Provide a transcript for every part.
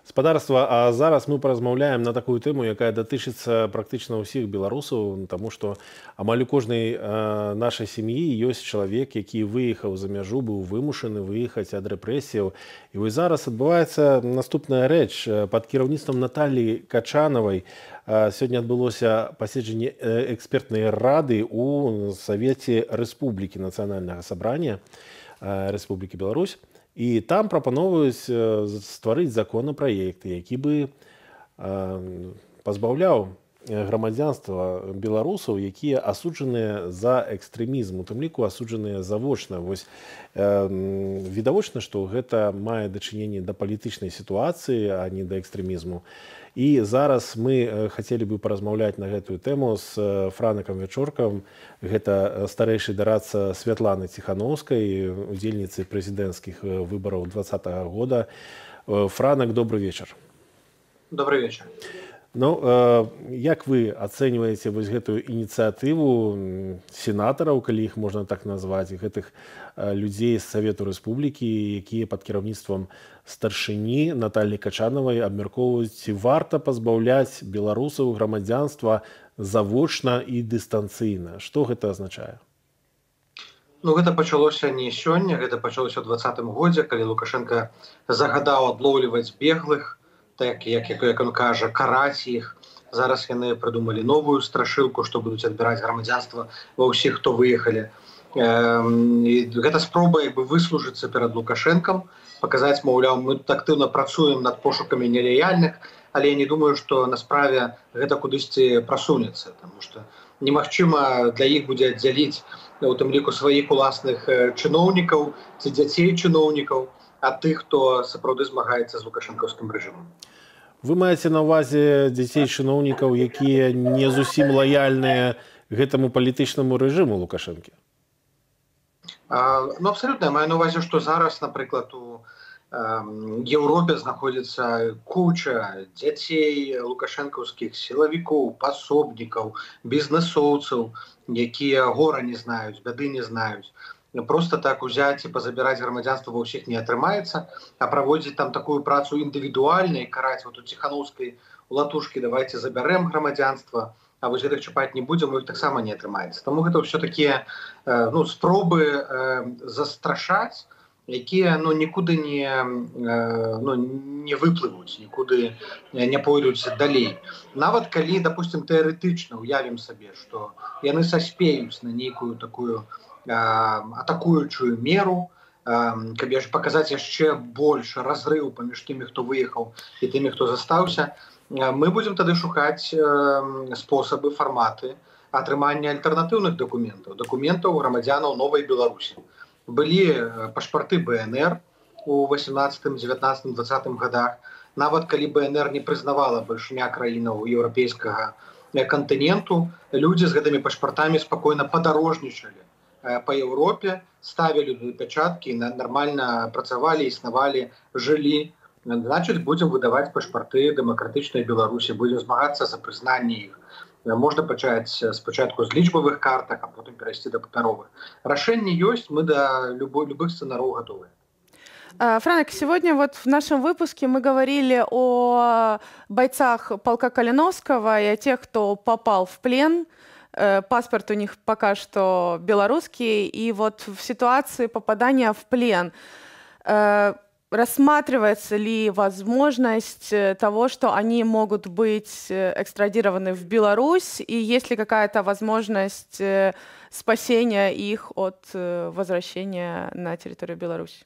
Спадарства, а зараз мы паразмаўляем на такую тэму, якая датычыцца практычна ўсіх беларусаў, таму што амаль у кожнай нашай сям'і ёсць чалавек, які выехаў за мяжу, быў вымушаны выехаць ад рэпрэсіяў. І вось зараз адбываецца наступная рэч. Пад кіраўніцтвам Наталлі Качанавай сёння адбылося паседжанне экспертнай рады ў Савеце Рэспублікі Нацыянальнага сабрання Рэспублікі Беларусь. І там прапановваюць стварыць законапраект, які бы пазбаўляў грамадзянства беларусаў, якія асуджаныя за экстрэмізм, у тым ліку асуджаныя завочна. Вось відавочна, што гэта мае дачыненне да палітычнай сітуацыі, а не да экстрэмізму. І зараз мы хацелі бы паразмаўляць на гэтую тэму з Франакам Вячоркам. Гэта старэйшы дарадца Святланы Ціхановскай, удзельніцы прэзідэнцкіх выбараў 2020 года. Франак, добрый вечар. Добрый вечар. Ну, як вы ацэньваеце вось гэтую ініцыятыву сенатараў, калі іх можна так назваць, гэтых людзей з Савету Рэспублікі, якія пад кіраўніцтвам старшыні Наталлі Качанавай абмяркоўваюць, ці варта пазбаўляць беларусаў грамадзянства завочна і дыстанцыйна? Што гэта азначае? Ну, гэта пачалося не сёння, гэта пачалося ў 2020 годзе, калі Лукашенко загадаў адлоўліваць беглых, так, як он кажа, караць іх. Зараз яны прыдумалі новую страшылку, што будуць адбіраць грамадзянства ва ўсіх, хто выехалі. І гэта спроба выслужыцца перад Лукашэнкам, паказаць, маўляў, мы актыўна працуем над пошукамі нелаяльных, але я не думаю, што на справе гэта кудысьці прасунецца, таму што немагчыма для іх будзе аддзяліць, у тым ліку сваіх уласных чыноўнікаў ці дзяцей чыноўнікаў ад тых, хто сапраўды змагаецца з лукашэнкаўскім рэжымам. Вы маеце на ўвазе дзяцей чыноўнікаў, якія не зусім лаяльныя гэтаму палітычнаму рэжыму Лукашэнкі? Ну, абсалютна. Я маю на ўвазе, што зараз, напрыклад, у Еўропе знаходзіцца куча дзяцей лукашэнкаўскіх сілавікоў, пасобнікаў, бізнэсоўцаў, якія гора не знаюць, бяды не знаюць. Просто так узяць і пазабіраць грамадзянства ва ўсіх не атрымаецца, а праводзіць там такую працу індывідуальна і караць вот у Ціхановскай у латушкі давайте забярэм грамадзянства, а вось гэтых чапаць не будзем, і таксама не атрымаецца. Таму гэта ўсё такія спробы застрашаць, якія нікуды не выплывуць, нікуды не пойдуць далей. Нават калі, допустим, тэарэтычна уявім сабе, што яны саспеюць на нейкую такую атакуючую меру, каб паказаць яшчэ больш разрыў паміж тымі, хто выехаў, і тымі, хто застаўся, мы будзем тады шукаць спосабы, фарматы атрымання альтэрнатыўных дакументаў грамадзянаў Новай Беларусі. Былі пашпарты БНР у 18, 19, 20 годах. Нават калі БНР не прызнавала бальшыня краінаў еўрапейскага кантыненту, людзі з гэтымі пашпартамі спакойна падарожнічалі по Европе, ставили печатки, нормально працавали, існавали, жили. Значит, будем выдавать пашпарты демократичной Беларуси, будем змагацца за признание их. Можно пачаць спачатку з лічбавых картак, а потом перайсці до папяровых. Рашэнне ёсць, мы до любых сцэнараў готовы. Франк, сегодня вот в нашем выпуске мы говорили о бойцах полка Калиновского и о тех, кто попал в плен. Паспорт у них пока что белорусский, и вот в ситуации попадания в плен рассматривается ли возможность того, что они могут быть экстрадированы в Беларусь, и есть ли какая-то возможность спасения их от возвращения на территорию Беларуси?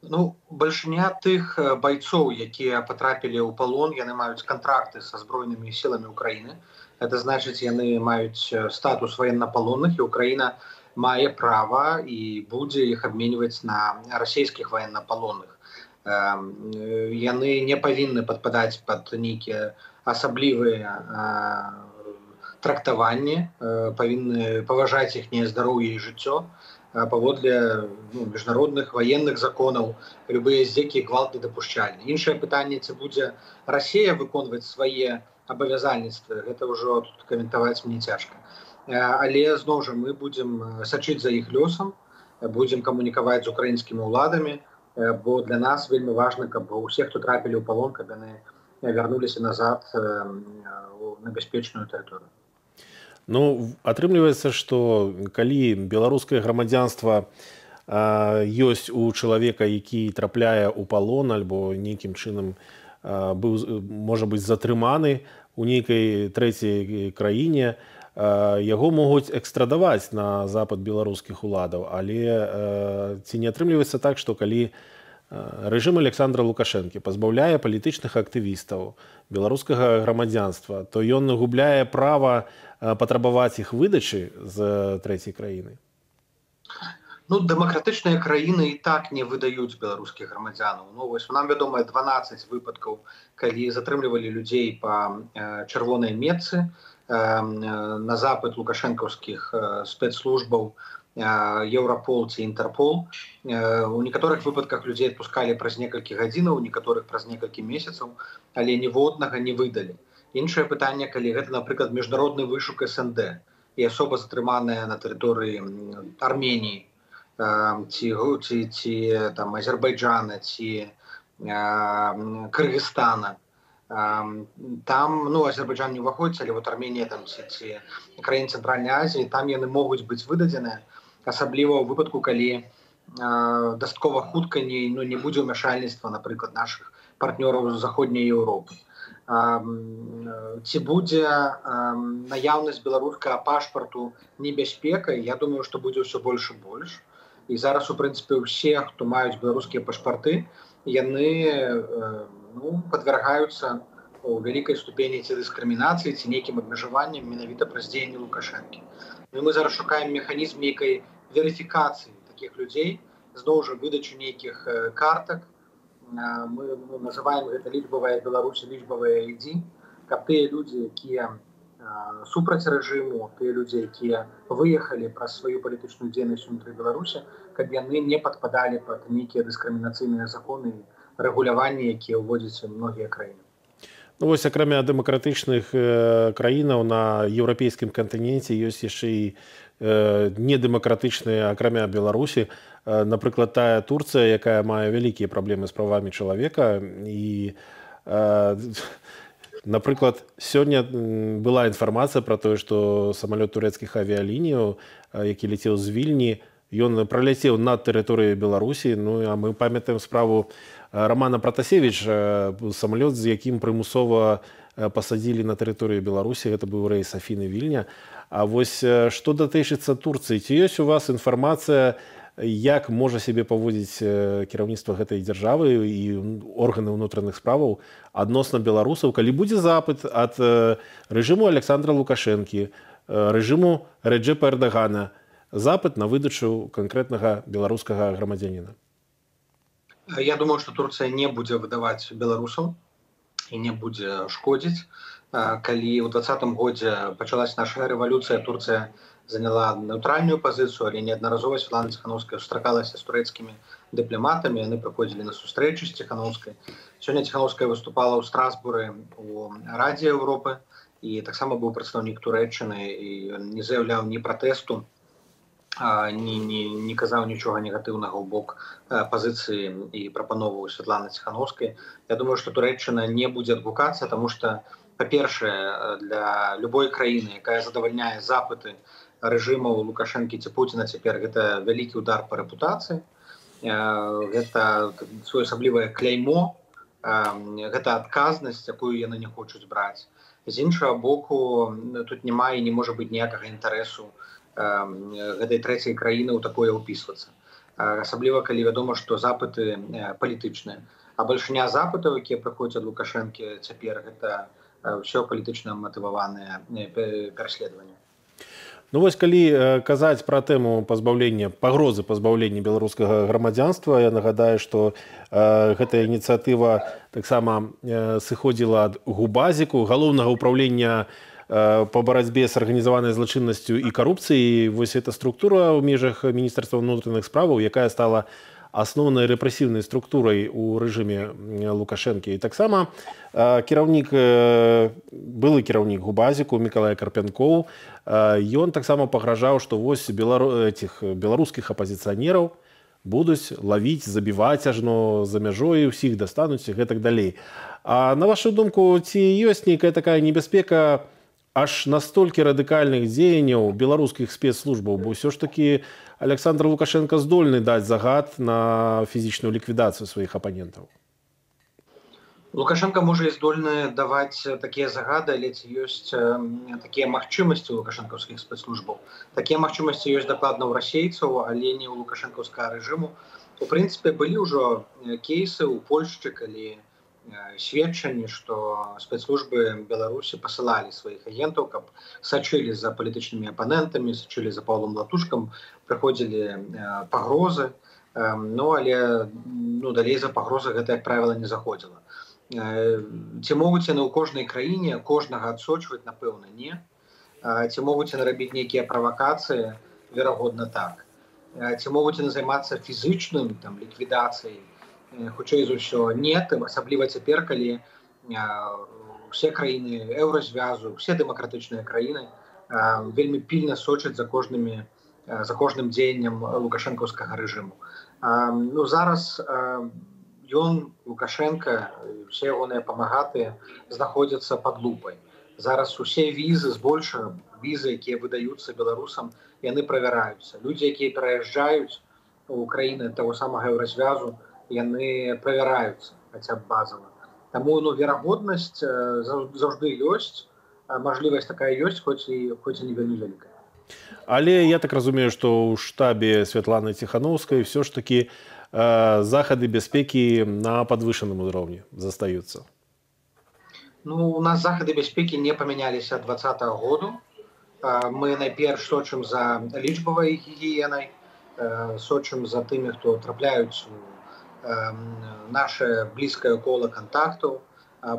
Ну, бальшыня тых бойцоў, якія потрапілі ў палон, яны маюць контракты са збройнымі сіламі Украіны. Это значыць, яны маюць статус военнопалонных, і Украіна мае права і будзе іх абменьваць на расійскіх военнопалонных. Яны не павінны падпадаць пад нейкія асаблівыя трактаванні, павінны паважаць іхняе здароўе і жыццё. Паводле міжнародных военных законаў, любыя здзекі і гвалт недапушчальны. Іншае пытанне, ці будзе Расія выконваць свае абавязальніцтвы, гэта ўжо тут каментаваць мне цяжка. Але зноў жа мы будзем сачыць за іх лёсам, будзем камунікаваць з украінскімі ўладамі, бо для нас вельмі важна, каб усе, хто трапілі ў палон, каб яны вярнуліся назад на бяспечную тэрыторыю. Ну, атрымліваецца, што калі беларускае грамадзянства ёсць у чалавека, які трапляе ў палон альбо нейкім чынам быў, можа быць, затрыманы у нейкай трэцяй краіне, яго могуць экстрадаваць на запад беларускіх уладаў. Але ці не атрымліваецца так, што калі рэжым Александра Лукашэнкі пазбаўляе палітычных актывістаў беларускага грамадзянства, то ён губляе права патрабаваць іх выдачы з трэцяй краіны? Ну, дэмакратычныя краіны і так не выдаюць беларускіх грамадзянаў. Ну, вось нам вядома 12 выпадкаў, калі затрымлівалі людзей па чырвонай метцы на запыт лукашэнкаўскіх спецслужбаў, Еўрапол ці Інтэрпол. У некаторых выпадках людзей адпускалі праз некалькі гадзінаў, у некаторых праз некалькі месяцаў, але ніводнага не выдалі. Іншае пытанне, калі гэта, напрыклад, міжнародны вышук СНД і асоба затрыманая на тэрыторыі Арменіі, ці там Азербайджана, ці Кыргызстана. Там, ну, Азербайджан не ўваходзіць, але вот Арменія там, ці краін Цэнтральнай Азіі, там яны могуць быць выдадзеныя, асабліва ў выпадку, калі дастаткова хутка не будзе ўмяшальніцтва, напрыклад, нашых партнёраў з заходняй Еўропы. Ці будзе наяўнасць беларускага пашпарту небяспекай, я думаю, што будзе ўсё больш і больш. І зараз, у прынцыпе, усе, хто маюць беларускія пашпарты, яны падвяргаюцца у вялікай ступені ці дыскрымінацыі, ці нейкім абмежаванням менавіта праз дзеянні Лукашэнкі. Ну, мы зараз шукаем механізм нейкай верыфікацыі такіх людзей, зноў жа выдачу нейкіх картак. Мы называем гэта лічбавая Беларусь, лічбавая ID, каб тыя людзі, якія супраць рэжыму, тыя людзі, якія выехалі праз сваю палітычную дзейнасць унутры Беларусі, каб яны не падпадалі пад нейкія дыскрымінацыйныя законы і рэгуляванні, якія ўводзяць многія краіны. Ну, вось, акрамя дэмакратычных краінаў на еўрапейскім кантыненце ёсць яшчэ і недэмакратычныя, акрамя Беларусі. Напрыклад, тая Турцыя, якая мае вялікія праблемы з правамі чалавека. І, напрыклад, сёння была інфармацыя пра тое, што самалёт турэцкіх авіяліній, які ляцеў з Вільні, ён праляцеў над тэрыторыяй Беларусі. Ну, а мы памятаем справу Романа Пратасевіч, самалёт, з якім прымусова пасадзілі на тэрыторыю Беларусі. Гэта быў рэйс Афіны-Вільня. А вось што датычыцца Турцыі, ці ёсць у вас інфармацыя, як можа сябе паводзіць кіраўніцтва гэтай дзяржавы і органы ўнутраных справаў адносна беларусаў, калі будзе запыт ад рэжыму Александра Лукашэнкі, рэжыму Рэджэпа Эрдагана, запыт на выдачу канкрэтнага беларускага грамадзяніна? Я думаю, што Турцыя не будзе выдаваць беларусаў і не будзе шкодзіць. Калі ў 2020 годзе пачалася наша рэвалюцыя, Турцыя заняла нейтральную пазіцыю, але неаднаразова Святлана Ціхановская сустракалася з турэцкімі дыпламатамі, яны прыходзілі на сустрэчы з Ціхановскай. Сёння Ціхановская выступала ў Страсбуры у Радзе Еўропы, і таксама быў прадстаўнік Турэччыны, і не заяўляў ні пратэсту, не казаў нічога негатыўнага ў бок пазіцыі і прапановаў Святланы Ціхановскай. Я думаю, што Турэччына не будзе адгукацца, таму што, па-першае, для любой краіны, якая задавальняе запыты рэжымаў Лукашэнкі ці Пуціна цяпер, гэта вялікі удар па рэпутацыі, гэта своеасаблівае кляймо, гэта адказнасць, якую яны не хочуць браць. З іншага боку, тут няма і не можа быць ніякага інтарэсу гэтай трэцяй краіны ў такое ўпісвацца. Асабліва, калі вядома, што запыты палітычныя. А бальшыня запытаў, якія прыходзяць ад Лукашэнкі цяпер, гэта ўсё палітычна матываваныя пераследаванні. Ну вось, калі казаць пра тэму пазбаўлення, пагрозы пазбаўлення беларускага грамадзянства, я нагадаю, што гэтая ініцыятыва таксама сыходзіла ад ГУБАЗіку, галоўнага ўпраўлення по барацьбе з арганізаванай злачыннасцю і карупцыяй. Вось эта структура ў межах Міністэрства ўнутраных справаў, якая стала асноўнай рэпрэсіўнай структурай у рэжыме Лукашэнкі. І таксама былы кіраўнік ГУБАЗіку Мікалай Карпянкоў, ён таксама пагражаў, што вось беларускіх апазіцыянераў будуць лавіць, забіваць ажно за мяжой, усіх дастануць і гэтак далей. А на вашу думку, ці ёсць нейкая такая небяспека аж настолькі радыкальных дзеянняў беларускіх спецслужбаў, бо ўсё ж такі Александр Лукашенко здольны даць загад на фізічную ліквідацыю сваіх апанентаў? Лукашенко можа і здольны даваць такія загады, але ці ёсць такія магчымасці ў лукашэнкаўскіх спецслужбаў. Такія магчымасці ёсць дакладна ў расейцаў, але не ў лукашэнкаўскага рэжыму. У прынцыпе, былі ўжо кейсы ў Польшчы, калі сведчанні, што спецслужбы Беларусі пасылалі сваіх агентаў, каб сачылі за палітычнымі апанентамі, сачылі за Паўлом Латушкам, прыходзілі пагрозы, але далей за пагрозы гэта, як правіла, не заходзіла. Ці могуць яны ў кожнай краіне кожнага адсочваць, напэўна, не. Ці могуць яны рабіць нейкія правакацыі, верагодна, так. Ці могуць яны займацца фізычным ліквідацыяй, хутчэй за ўсё, не, асабліва цяпер, калі ўсе краіны еўразвязу, усе дэмакратычныя краіны вельмі пільна сочаць за кожным дзеяннем лукашэнкаўскага рэжыму. Зараз ён, Лукашенко, усе ягоныя памагатыя знаходзяцца пад лупай. Зараз усе візы, збольшага візы, якія выдаюцца беларусам, яны правяраюцца. Людзі, якія пераязджаюць у краіны таго самага еўразвязу, яны правяраюцца, хаця б базава. Таму верагоднасць заўжды ёсць, мажлівасць такая ёсць, хоць і не вельмі вялікая. Але я так разумею, што ў штабе Святланы Ціхановскай ўсё ж такі захады бяспекі на падвышаным узроўні застаюцца. У нас захады бяспекі не памяняліся ад 2020 году. Мы найперш сочым за лічбавай гігіенай, сочым за тымі, хто трапляюць у наше блізкае кола кантактаў.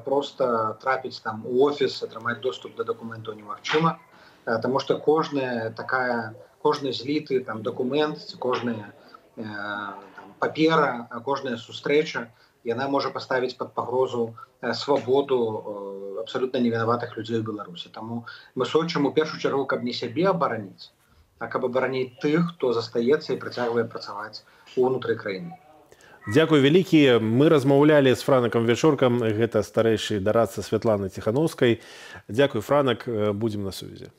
Проста трапіць там у офіс, атрымаць доступ да дакументаў немагчыма, таму што кожны зліты дакумент, кожная папера, кожная сустрэча, яна можа паставіць пад пагрозу свабоду абсалютна невінаватых людзей у Беларусі. Таму мы сочым у першую чаргу, каб не сябе абараніць, а каб абараніць тых, хто застаецца і працягвае працаваць унутры краіны. Дзякуй вялікі. Мы размаўлялі з Франакам Вечоркам, гэта старэйшы дарадца Святланы Ціхановскай. Дзякуй, Франак, будзем на сувязі.